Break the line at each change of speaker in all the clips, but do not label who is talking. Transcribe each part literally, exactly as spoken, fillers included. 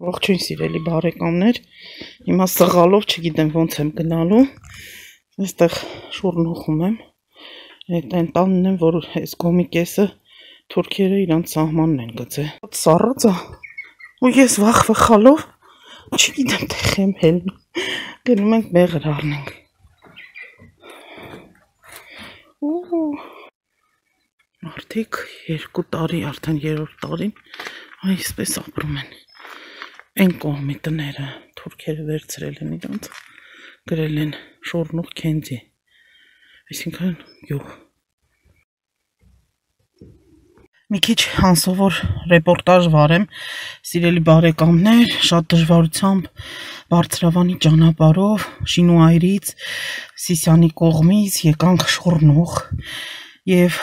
Ողջույն սիրելի բարեկամներ, հիմա սղալով չգիտեմ ոնց եմ գնալու, այստեղ շուրնուխում եմ, այդ այն տանն եմ, որ այս գոմի կեսը թուրքերը իրանց սահմանն են գծել։ Սառած է, ու ես վախ վխալով, չգիտեմ տեղ եմ հելնում, գնում ենք մեղր առնենք։ Մարդիկ երկու տարի, արդեն երրորդ տարին այսպես ապրում են։ Այն կողմի տները թուրքերը վերցրել են իրանց, գրել են շորնուխ քենձի, այսինքն գյուղ։ Մի քիչ անսովոր ռեպորտաժ վարեմ, սիրելի բարեկամներ, շատ դժվարությամբ բարձրավանի ճանապարհով Շինուայրից, Սիսիանի կողմից եկանք Շորնուխ եւ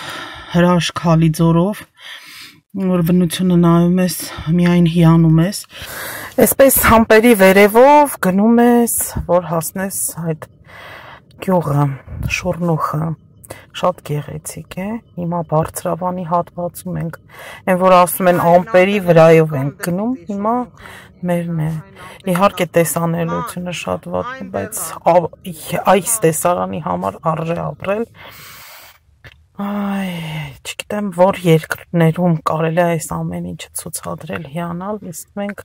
հրաշք Հալիձորով, որ բնությունը նայում ես, միայն հիանում ես, այսպես համպերի վերևով գնում ես, որ հասնես այդ գյուղը, Շորնուխը, շատ գեղեցիկ է, հիմա բարձրավանի հատվածում ենք, այն որ ասում են ամպերի վրայով ենք գնում, հիմա մերն է, իհարկե տեսանելիությունը շատ վատ է, բայց այս տեսարանի համար արժե ապրել, այ, չգիտեմ, որ երկրներում կարելի է այս ամեն ինչը ցուցադրել, հիանալ, իսկ մենք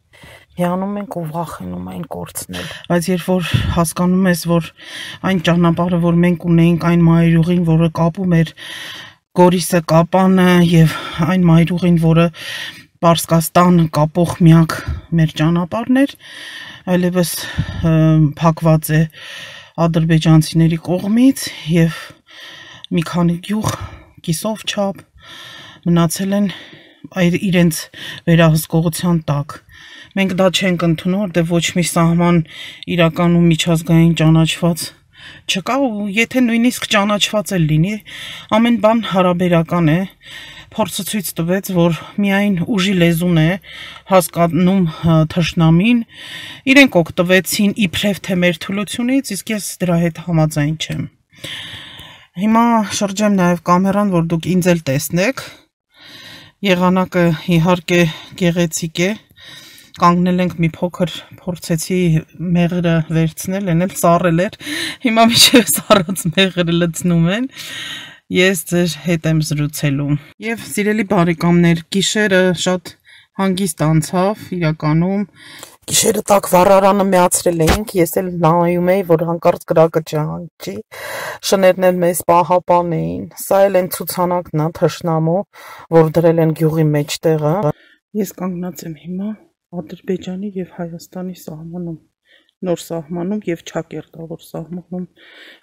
հիանում ենք ու վախենում այն կորցնել։ Բայց երբ որ հասկանում ես, որ այն ճանապարհը, որ մենք ունեինք, այն մայրուղին, որը կապում էր Գորիսը, Կապանը եւ այն մայրուղին, որը Պարսկաստանը կապող միակ մեր ճանապարհն էր, այլևս փակված է ադրբեջանցիների կողմից եւ մի քանի գյուղ կիսով չափ մնացել են իրենց վերահսկողության տակ։ Մենք դա չենք ընդունում, որտեղ ոչ մի սահման իրականում միջազգային ճանաչված չկա ու եթե նույնիսկ ճանաչված էլ լինի, ամեն բան հարաբերական է։ Փորձը ցույց տվեց, որ միայն ուժի լեզուն է հասկանում թշնամին, իրենք օգտվեցին իբրև թե մեր թուլությունից, իսկ ես դրա հետ համաձայն չեմ։ Հիմա շրջեմ նաև կամերան, որ դուք ինձ էլ տեսնեք, եղանակը իհարկե գեղեցիկ է, կանգնել ենք մի փոքր, փորձեցի մեղրը վերցնել, են էլ սառել էր, հիմա մինչև սառած մեղրը լցնում են, ես ձեր հետ եմ զրուցելու։ Եվ սիրելի բարեկամներ, գիշերը շատ հանգիստ անցավ, իրականում գիշերը տակ վառարանը միացրել էինք, ես էլ նայում էի, որ հանկարծ կրակը չհանջի, շներն էլ մեզ պահապան էին, սա էլ են ցուցանակն է թշնամու, որ դրել են գյուղի մեջտեղը։ Ես կանգնած եմ հիմա Ադրբեջանի եւ Հայաստանի սահմանում, նոր սահմանում եւ Չակերտավոր սահմանում,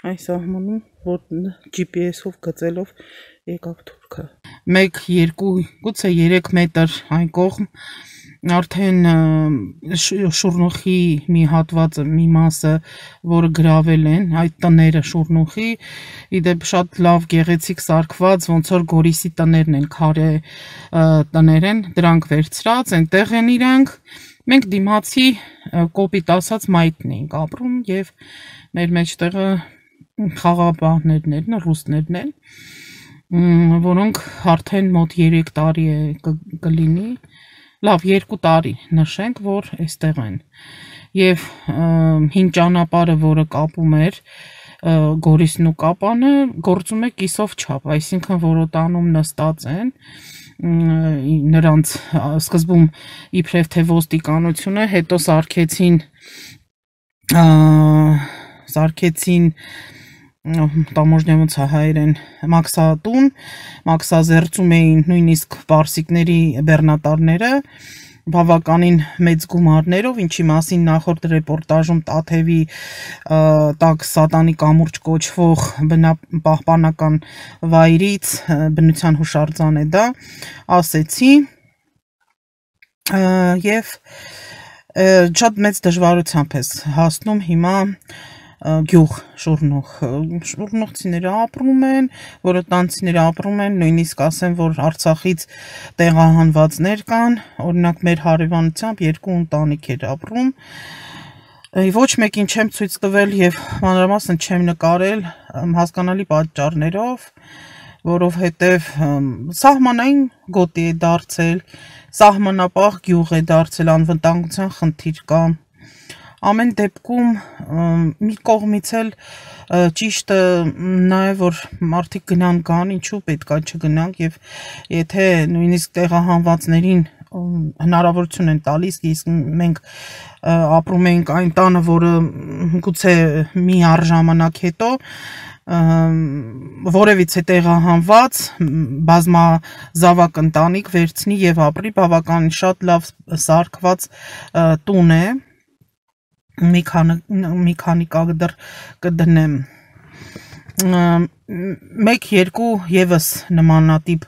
այն սահմանում, որ Ջի Պի Էսով գծելով եկավ թուրքը։ մեկ, երկու, գուցե երեք մետր այն կողմ արդեն Շուրնուխի մի հատվածը, մի մասը, որը գրավել են, այդ տները Շուրնուխի, իդեպ շատ լավ գեղեցիկ սարքված, ոնց որ Գորիսի տներն են, քարե տներ են, դրանք վերցրած, այնտեղ են իրանք, մենք դիմացի կոպիտ ասած մայթն էինք ապրում եւ մեր մեջտեղը խաղապահներն են, ռուսներն են, որոնք արդեն մոտ երեք տարի է կլինի, լավ երկու տարի նշենք, որ այստեղ են եւ հին ճանապարհը, որը կապում էր Գորիսն ու Կապանը, գործում է կիսով չափ, այսինքն որոտանում նստած են նրանց սկզբում իբրև թե ոստիկանությունը, հետո սարքեցին սարքեցին տամոժնյամոց հայերեն մաքսատուն, մաքսազերծում էին նույնիսկ պարսիկների բեռնատարները, բավականին մեծ գումարներով, ինչի մասին նախորդ ռեպորտաժում Տաթևի տակ Սատանի կամուրջ կոչվող բնապահպանական վայրից, բնության հուշարձան է դա, ասեցի եւ շատ մեծ դժվարությամբ ես հասնում հիմա գյուղ Շուրնուխ, շուրնուխցիները ապրում են, որոտանցիները ապրում են, նույնիսկ ասեմ, որ Արցախից տեղահանվածներ կան, օրինակ մեր հարևանությամբ երկու ընտանիք էր ապրում, ոչ մեկին չեմ ցույց տվել եւ մանրամասն չեմ նկարել հասկանալի պատճառներով, որովհետև սահմանային գոտի է դարձել, սահմանապահ գյուղ է դարձել, անվտանգության խնդիր կա։ Ամեն դեպքում մի կողմից էլ ճիշտը նա է, որ մարդիկ գնան կան, ինչու պետք է չգնանք, եւ եթե նույնիսկ տեղահանվածներին հնարավորություն են տալիս, իսկ մենք ապրում ենք այն տանը, որը գուցե մի առժամանակ հետո որևիցե տեղահանված բազմազավակ ընտանիք վերցնի եւ ապրի, բավական շատ լավ սարքված տուն է, մի քանի մի քանի կադր կդնեմ, մեկ երկու եւս նմանատիպ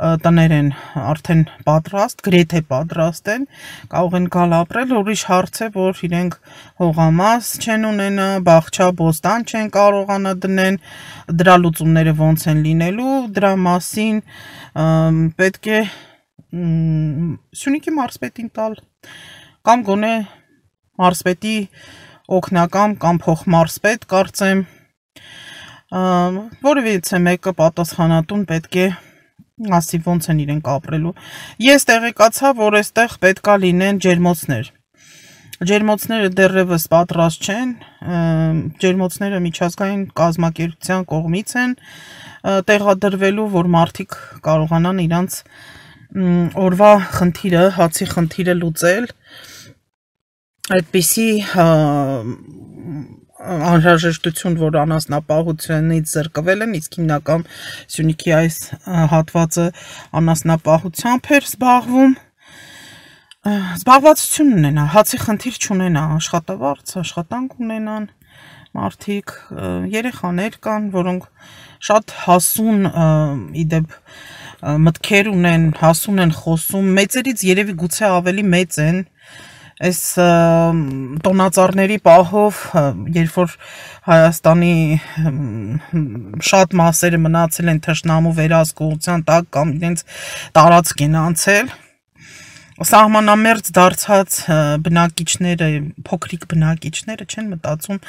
տներ են արդեն պատրաստ, գրեթե պատրաստ են, կարող են գալ ապրել, ուրիշ հարց է, որ իրենք հողամաս չեն ունենա, բաղչա, բոստան չեն կարողանա դնեն, դրա լուծումները ոնց են լինելու, դրա մասին պետք է Սյունիքի մարզպետին տալ, կամ գոնե մարզպետի օգնական կամ փոխմարզպետ, կարծեմ, որևիցե մեկը պատասխանատուն պետք է ասի ոնց են իրենք ապրելու։ Ես տեղեկացա, որ այստեղ պետքա լինեն ջերմոցներ։ Ջերմոցները դեռևս պատրաստ չեն, ջերմոցները միջազգային կազմակերպության կողմից են տեղադրվելու, որ մարդիկ կարողանան իրանց օրվա խնդիրը, հացի խնդիրը լուծել, այդպիսի անհրաժեշտություն, որ անասնապահությունից զրկվել են, իսկ հիմնական Սյունիքի այս հատվածը անասնապահությամբ էր զբաղվում, զբաղվածություն ունենա, հացի խնդիր չունենա, աշխատավարձ, աշխատանք ունենան մարդիկ, երեխաներ կան, որոնք շատ հասուն իդեպ մտքեր ունեն, հասուն են խոսում, մեծերից երևի գուցե ավելի մեծ են, այս տոնածառների պահով, երբ որ Հայաստանի շատ մասերը մնացել են թշնամու վերահսկողության տակ կամ իրենց տարածք են անցել, սահմանամերձ դարձած բնակիչները, փոքրիկ բնակիչները չեն մտածում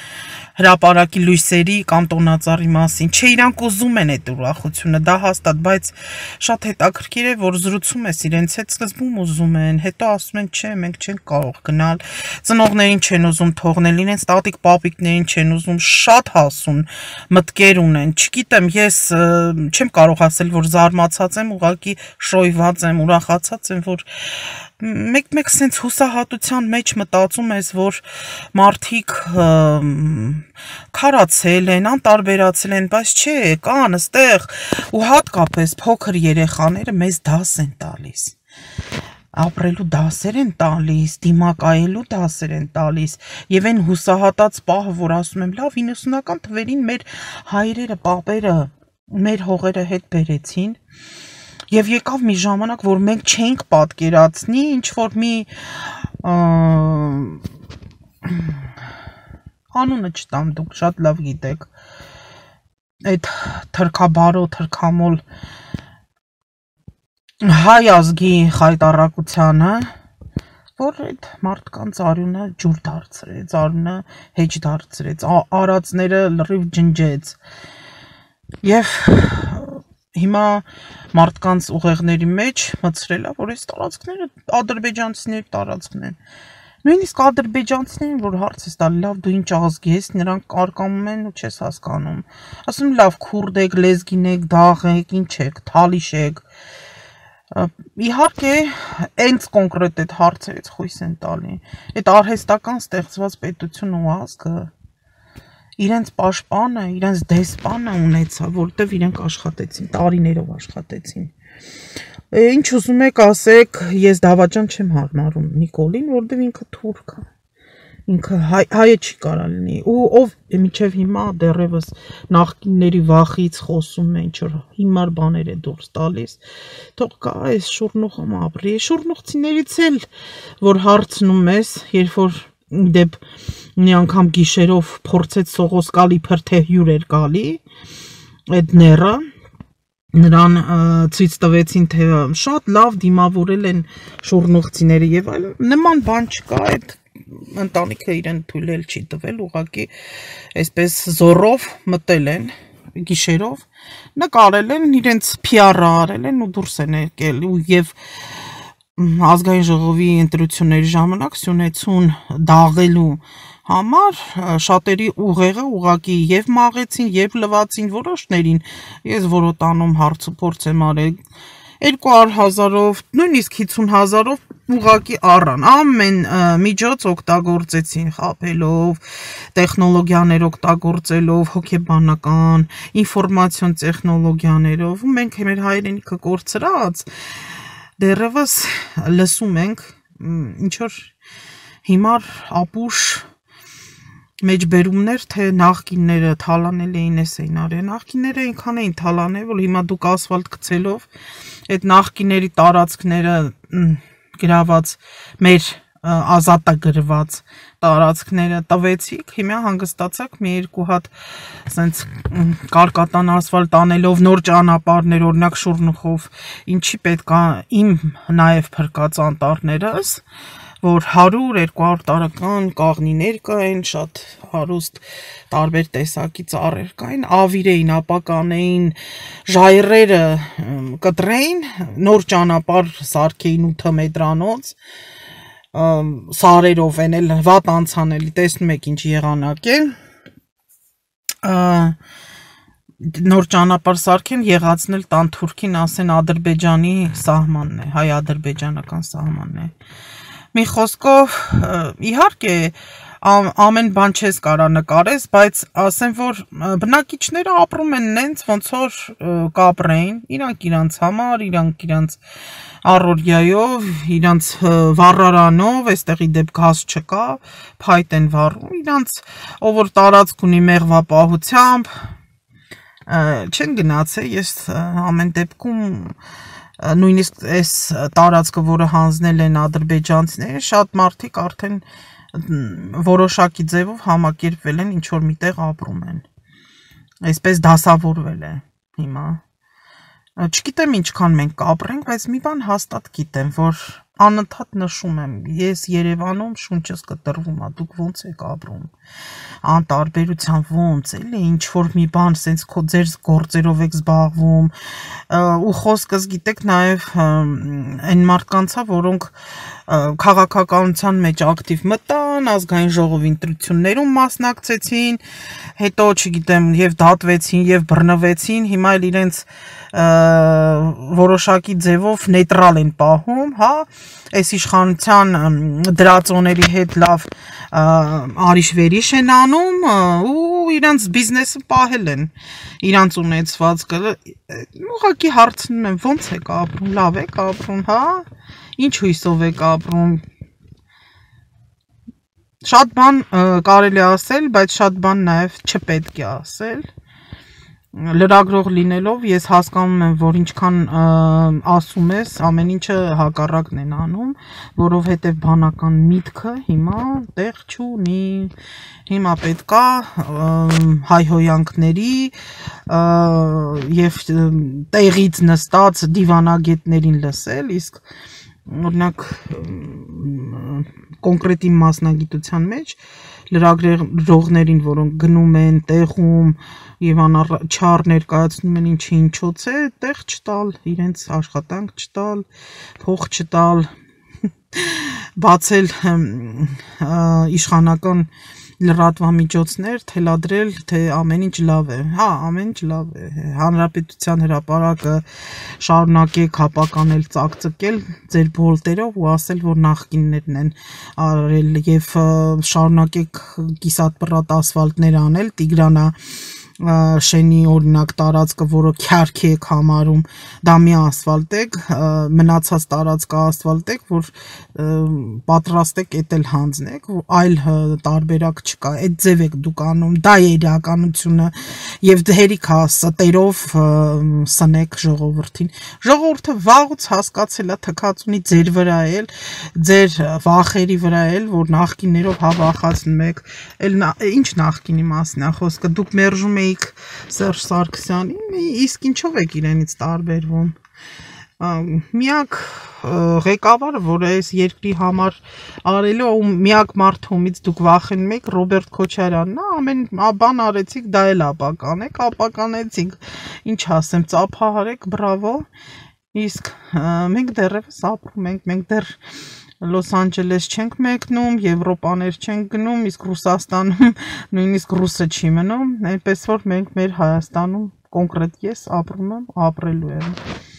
հրապարակի լույսերի կամ տոնածառի մասին, չէ, իրանք ուզում են այդ ուրախությունը, դա հաստատ, բայց շատ հետաքրքիր է, որ զրուցում ես իրենց հետ, սկզբում ուզում են, հետո ասում են, չէ, մենք չենք կարող գնալ, ծնողներին չեն ուզում թողնել, իրենց տատիկ պապիկներին չեն ուզում, շատ հասուն մտքեր ունեն, չգիտեմ, ես չեմ կարող ասել, որ զարմացած եմ, ուղղակի շոյված եմ, ուրախացած եմ, որ մեկ-մեկ սենց հուսահատության մեջ մտածում ես, որ մարդիկ քարացել են, անտարբերացել են, բայց չէ, կան այստեղ ու հատկապես փոքր երեխաները մեզ դաս են տալիս, ապրելու դասեր են տալիս, դիմակայելու դասեր են տալիս, եւ այն հուսահատած պահը, որ ասում եմ, լավ, իննսունական թվերին մեր հայրերը, պապերը, մեր հողերը հետ բերեցին, եւ եկավ մի ժամանակ, որ մենք չենք պատկերացնի, ինչ որ մի անունը չտամ, դուք շատ լավ գիտեք, այդ թրքաբարո, թրքամոլ հայ ազգի խայտառակությանը, որ այդ մարդկանց արյունը ջուր դարձրեց, արյունը հեչ դարձրեց, արածները լրիվ ջնջեց, եւ հիմա մարդկանց ուղեղների մեջ մտցրել է, որ այս տարածքները ադրբեջանցիների տարածքն են։ Նույնիսկ ադրբեջանցիներին, որ հարց ես տալի, լավ, դու ինչ ազգի ես, նրանք կարկամում են ու չես հասկանում։ Ասում լավ, քուրդ եք, լեզգին եք, դաղ եք, ինչ եք, թալիշ եք։ Իհարկե, այնց կոնկրետ այդ հարցերից խույս են տալի։ Այդ արհեստական ստեղծված պետություն ու ազգը իրենց պաշտպանը, իրենց դեսպանը ունեցա, որտեվ իրենք աշխատեցին, տարիներով աշխատեցին։ Ինչ ուզում եք ասեք, ես դավաճան չեմ հարմարում Նիկոլին, որտեվ ինքը թուրք է, ինքը հայը չի կարա լինի, ու ով մինչև հիմա դեռևս նախկինների վախից խոսում է, ինչ որ հիմար բաներ է դուրս տալիս, թող կա այս շուրնուխում ապրի, շուրնուխցիներից էլ, որ հարցնում ես, երբ որ դեպ մի անգամ գիշերով փորձեց Սողոսկալի փրթե հյուր էր գալի, այդ ները, նրան ցույց տվեցին, թե շատ լավ դիմավորել են շուրնուխցիները եւ այլ, նման բան չկա, այդ ընտանիքը իրեն թույլ չի տվել, ուղղակի այսպես զորով մտել են գիշերով նկարել են, իրենց P R-ը արել են ու դուրս են եկել ու եւ ազգային ժողովի ընտրությունների ժամանակ Սյունեցուն դաղելու համար շատերի ուղեղը ուղակի եւ մաղեցին եւ լվացին որոշներին ես որոտանում հարց ու փորձ եմ արել երկու հարյուր հազարով նույնիսկ հիսուն հազարով ուղակի առան ամեն միջոց օգտագործեցին խաբելով տեխնոլոգիաներ օգտագործելով հոգեբանական ինֆորմացիոն տեխնոլոգիաներով ու մենք մեր հայրենիքը կորցրած դեռևս լսում ենք ինչ որ հիմար ապուշ մեջբերումներ թե նախկինները թալանել էին էս էին արել նախկինները այնքան էին թալանել որ հիմա դուք ասֆալտ գցելով այդ նախկիների տարածքները գրաված մեր ազատագրված տարածքները տվեցիք հիմա հանգստացաք մի երկու հատ ասենց կարկատան ասֆալտ անելով նոր ճանապարհներ օրինակ Շուռնուխով ինչի պետքա իմ նաև փրկած անտառներս որ հարյուր երկու հարյուր տարեկան կաղնիներ կային շատ հարուստ տարբեր տեսակի ծառեր կային ավիր էին ապականեին ժայռերը կտրեին նոր ճանապարհ սարքեին ութ մետրանոց սարերով են էլ վատ անցանելի տեսնում եք ինչ եղանակ է նոր ճանապարհ սարքեն եղածնել տան թուրքին ասեն Ադրբեջանի սահմանն է հայ-ադրբեջանական սահմանն է մի խոսքով իհարկե ամեն բան չես կարա նկարես բայց ասեմ որ բնակիչները ապրում են նենց ոնց որ կապրեին իրանք իրանց համար իրանք իրանց առօրյայով իրանց վառարանով այստեղի դեպք գազ չկա փայտ են վառում իրանց ով որ տարածք ունի մեղվապահությամբ չեն գնացել ես ամեն դեպքում նույնիսկ այս տարածքը որը հանձնել են ադրբեջանցիները շատ մարդիկ արդեն որոշակի ձևով համակերպվել են ինչ որ միտեղ ապրում են այսպես դասավորվել է հիմա չգիտեմ ինչքան մենք կապրենք բայց մի բան հաստատ գիտեմ որ անընդհատ նշում եմ ես Երևանում շունչս կտրվում ա դուք ոնց եք ապրում անտարբերության ոնց էլի ինչ որ մի բան sense քո ձեր գործերով եք զբաղվում ու խոսքս գիտեք նաև այն մարդկանցա որոնք քաղաքականության մեջ ակտիվ մտան ազգային ժողովի ընտրություններում մասնակցեցին հետո չգիտեմ եւ դատվեցին եւ բռնվեցին հիմա էլ իրենց որոշակի ձևով նեյտրալ են պահում, հա, այս իշխանության դրածոների հետ լավ արիշ-վերիշ են անում ու իրանց բիզնեսը պահել են, իրանց ունեցվածքը, ուղղակի հարցնում եմ, ոնց եք ապրում, լավ եք ապրում, հա, ինչ հույսով եք ապրում, շատ բան կարելի ասել, բայց շատ բան նաև չպետք է ասել, լրագրող լինելով ես հասկանում եմ, որ ինչքան ասում ես, ամեն ինչը հակառակն են անում, որովհետև բանական միտքը հիմա տեղ չունի, հիմա պետքա հայհոյանքների և տեղից նստած դիվանագետներին լսել, իսկ օրինակ կոնկրետ իմ մասնագիտության մեջ լրագրողներին, որոնք գնում են տեղում և անառաջար ներկայացնում են ինչի ինչոց է, տեղ չտալ, իրենց աշխատանք չտալ, փող չտալ, բացել իշխանական լրատվամիջոցներ, թելադրել, թե ամեն ինչ լավ է, հա, ամեն ինչ լավ է, հանրապետության հրապարակը շարունակեք հապականել, ծակծկել ձեր բոլտերով ու ասել, որ նախկիններն են արել և շարունակեք կիսատ-պռատ ասվալտներ անել, Տիգրանա շենի օրինակ տարածքը, որը քյարքի եք համարում, դա մի ասվալտեք, մնացած տարածքը ասվալտեք, որ պատրաստեք էդ էլ հանձնեք, այլ տարբերակ չկա, այդ ձև եք դուք անում, դա է իրականությունը և հերիք հա ստերով սնեք ժողովրդին, ժողովուրդը վաղուց հասկացել է թքած ունի ձեր վրա էլ, ձեր վախերի վրա էլ, որ նախկիններով հավախացնում եք, ինչ նախկինի մասն է խոսքը, դուք մերժում եք Սերժ Սարգսյանին, իսկ ինչով եք իրենից տարբերվում, միակ ղեկավարը, որ այս երկրի համար արելու ու միակ մարդը, ումից դուք վախենում եք, Ռոբերտ Քոչարյանն է, ամեն բան արեցիք, դա էլ ապականեք, ապականեցիք, ինչ ասեմ, ծափահարեք, բրավո, իսկ մենք դեռևս ապրում ենք, մենք դեռ Լոս Անջելես չենք մեկնում, Եվրոպաներ չենք գնում, իսկ Ռուսաստանում նույնիսկ ռուսը չի մնում, այնպես որ մենք մեր Հայաստանում կոնկրետ ես ապրում եմ, ապրելու եմ